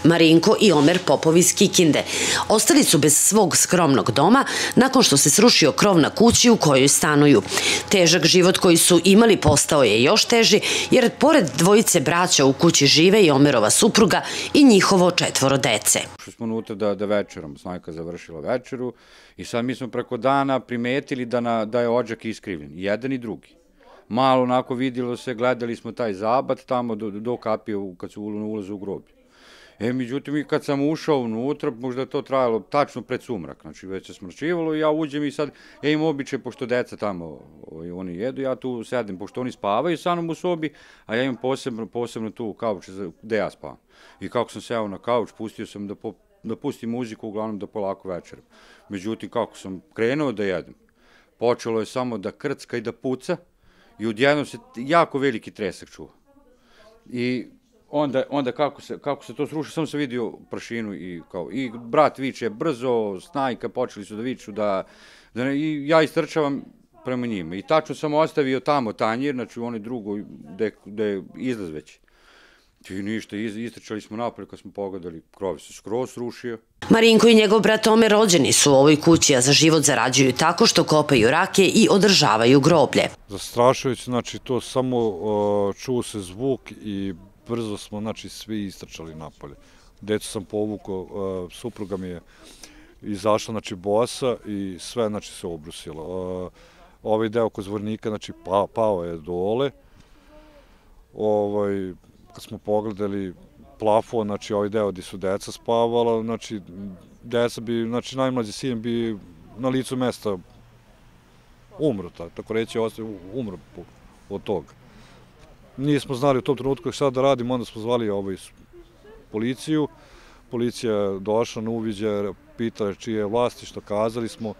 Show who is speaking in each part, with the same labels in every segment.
Speaker 1: Marinko i Omer Popov iz Kikinde ostali su bez svog skromnog doma nakon što se srušio krov na kući u kojoj stanuju. Težak život koji su imali postao je još teži jer pored dvojice braća u kući žive i Omerova supruga i njihovo 4 dece.
Speaker 2: Ušli smo unutra da večerom, snajka završila večeru i sad mi smo preko dana primetili da je odžak iskrivljen, jedan i drugi. Malo onako vidjelo se, gledali smo taj zabat tamo do kapije kad su ulaze u groblje. Međutim, kad sam ušao unutra, možda je to trajalo tačno pred sumrak, znači već se smrčivalo i ja uđem i sad, ja imam običaj, pošto deca tamo, oni jedu, ja tu sedem, pošto oni spavaju sa mnom u sobi, a ja imam posebno tu kauč gde ja spavam. I kako sam seo na kauč, pustio sam da pustim muziku, uglavnom da polako večeram. Međutim, kako sam krenuo da jedem, počelo je samo da krcka i da puca i odjednom se jako veliki tresak čuva. Onda kako se to sruši, sam se vidio prašinu i brat viče brzo, snajka, počeli su da viču i ja istrčavam prema njima. I tačno sam ostavio tamo tanjir, znači u onoj drugoj gde je izlaz već. I ništa, istrčali smo napolje kad smo pogledali, krov se skroz srušio.
Speaker 1: Marinko i njegov brat Omer rođeni su u ovoj kući, a za život zarađuju tako što kopaju rake i održavaju groblje.
Speaker 3: Zastrašujući, znači to samo čuo se zvuk i brzo smo, znači, svi istrčali napolje. Decu sam povukao, supruga mi je izašla, znači, bosa i sve, znači, se obrusilo. Ovaj deo kod Zvornika, znači, pao je dole. Kad smo pogledali plafon, znači, ovaj deo gdje su deca spavala, znači, deca bi, znači, najmlađi sin bi na licu mesta umro, tako reći, umro od toga. Nismo znali u tom trenutku šta da radimo, onda smo zvali policiju. Policija je došla na uviđaj, pitala čije je vlasništvo, kazali smo,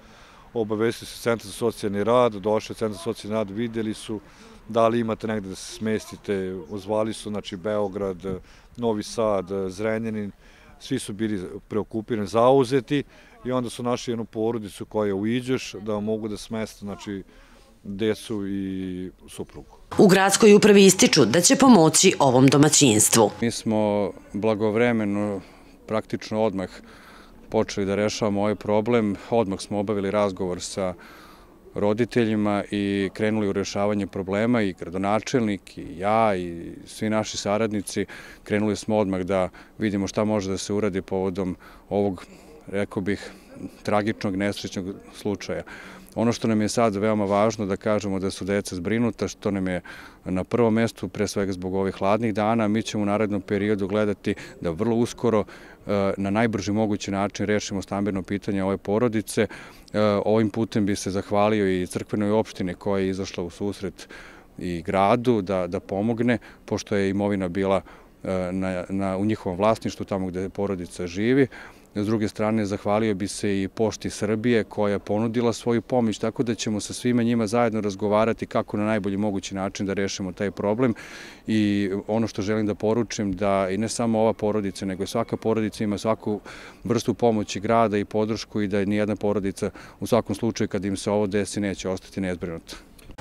Speaker 3: obavestili su Centar za socijalni rad, došli u Centar za socijalni rad, vidjeli su da li imate negde da se smestite, ozvali su, znači, Beograd, Novi Sad, Zrenjanin, svi su bili preokupirani, zauzeti i onda su našli jednu porodicu koja u Iđoš da mogu da smeste, znači, decu i suprugu.
Speaker 1: U gradskoj upravi ističu da će pomoći ovom domaćinstvu.
Speaker 4: Mi smo blagovremeno, praktično odmah počeli da rešavamo ovaj problem. Odmah smo obavili razgovor sa roditeljima i krenuli u rešavanje problema i gradonačelnik i ja i svi naši saradnici. Krenuli smo odmah da vidimo šta može da se uradi povodom ovog, rekao bih, tragičnog, nesrećnog slučaja. Ono što nam je sad veoma važno da kažemo da su deca zbrinuta, što nam je na prvom mestu, pre svega zbog ovih hladnih dana, mi ćemo u narednom periodu gledati da vrlo uskoro na najbrži mogući način rešimo stambeno pitanje ove porodice. Ovim putem bi se zahvalio i crkvenoj opštini koja je izašla u susret i gradu da pomogne, pošto je imovina bila u njihovom vlasništvu, tamo gde porodica živi. S druge strane, zahvalio bi se i Pošti Srbije koja je ponudila svoju pomoć, tako da ćemo sa svima njima zajedno razgovarati kako na najbolji mogući način da rešimo taj problem. I ono što želim da poručim, da i ne samo ova porodica, nego i svaka porodica ima svaku vrstu pomoći grada i podršku i da nijedna porodica u svakom slučaju kad im se ovo desi neće ostati nezbrinuta.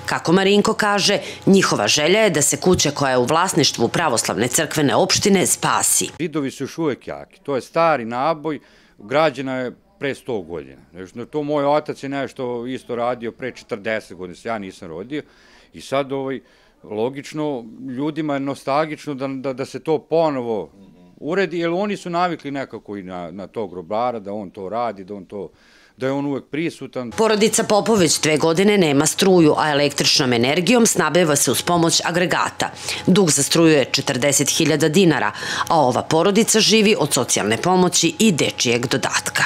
Speaker 1: Kako Marinko kaže, njihova želja je da se kuća koja je u vlasništvu Pravoslavne crkvene opštine spasi.
Speaker 2: Zidovi su još uvek jaki. To je stari naboj, građena je pre 100 godina. To moj otac je nešto isto radio pre 40 godina, ja nisam rodio. I sad logično, ljudima je nostalgično da se to ponovo uredi, jer oni su navikli nekako i na tog grobara, da on to radi, da je on uvek prisutan.
Speaker 1: Porodica Popov već 2 godine nema struju, a električnom energijom snabdeva se uz pomoć agregata. Dug za struju je 40.000 dinara, a ova porodica živi od socijalne pomoći i dečijeg dodatka.